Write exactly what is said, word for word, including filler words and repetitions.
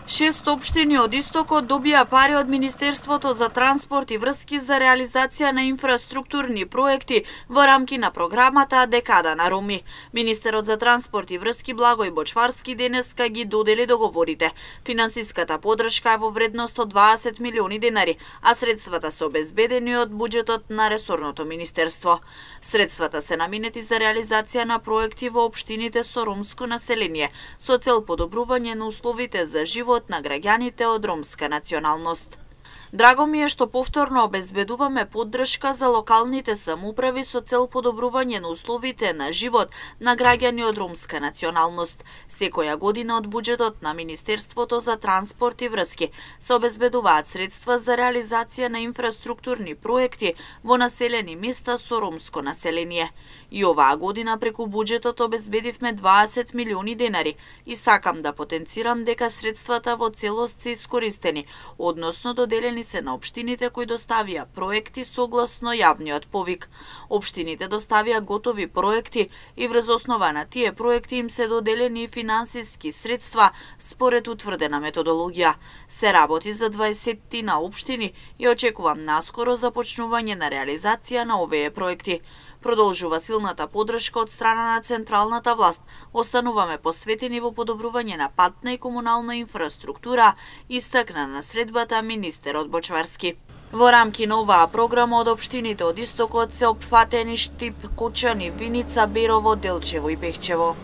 Шест општини од Истокот добија пари од Министерството за транспорт и врски за реализација на инфраструктурни проекти во рамки на програмата Декада на Роми. Министерот за транспорт и врски Благој Бочварски денеска ги додели договорите. Финансиската поддршка е во вредност од дваесет милиони денари, а средствата се обезбедени од буџетот на ресорното министерство. Средствата се наменети за реализација на проекти во општините со ромско население, со цел подобрување на условите за живот на граѓаните од ромска националност. Драго ми е што повторно обезбедуваме поддршка за локалните самоуправи со цел подобрување на условите на живот на граѓани од ромска националност. Секоја година од буџетот на Министерството за транспорт и врски се обезбедуваат средства за реализација на инфраструктурни проекти во населени места со ромско население. И оваа година преку буџетот обезбедивме дваесет милиони денари и сакам да потенцирам дека средствата во целост се искористени, односно доделени се на општините кои доставија проекти согласно јавниот повик. Општините доставија готови проекти и врз основа на тие проекти им се доделени финансиски средства според утврдена методологија. Се работи за дваесеттина општини и очекувам наскоро започнување на реализација на овие проекти. Продолжува силната поддршка од страна на централната власт. Остануваме посветени во подобрување на патна и комунална инфраструктура, истакна на средбата министерот Бочварски. Во рамки на оваа програма од општините од Истокот се опфатени Штип, Кочани, Виница, Берово, Делчево и Пехчево.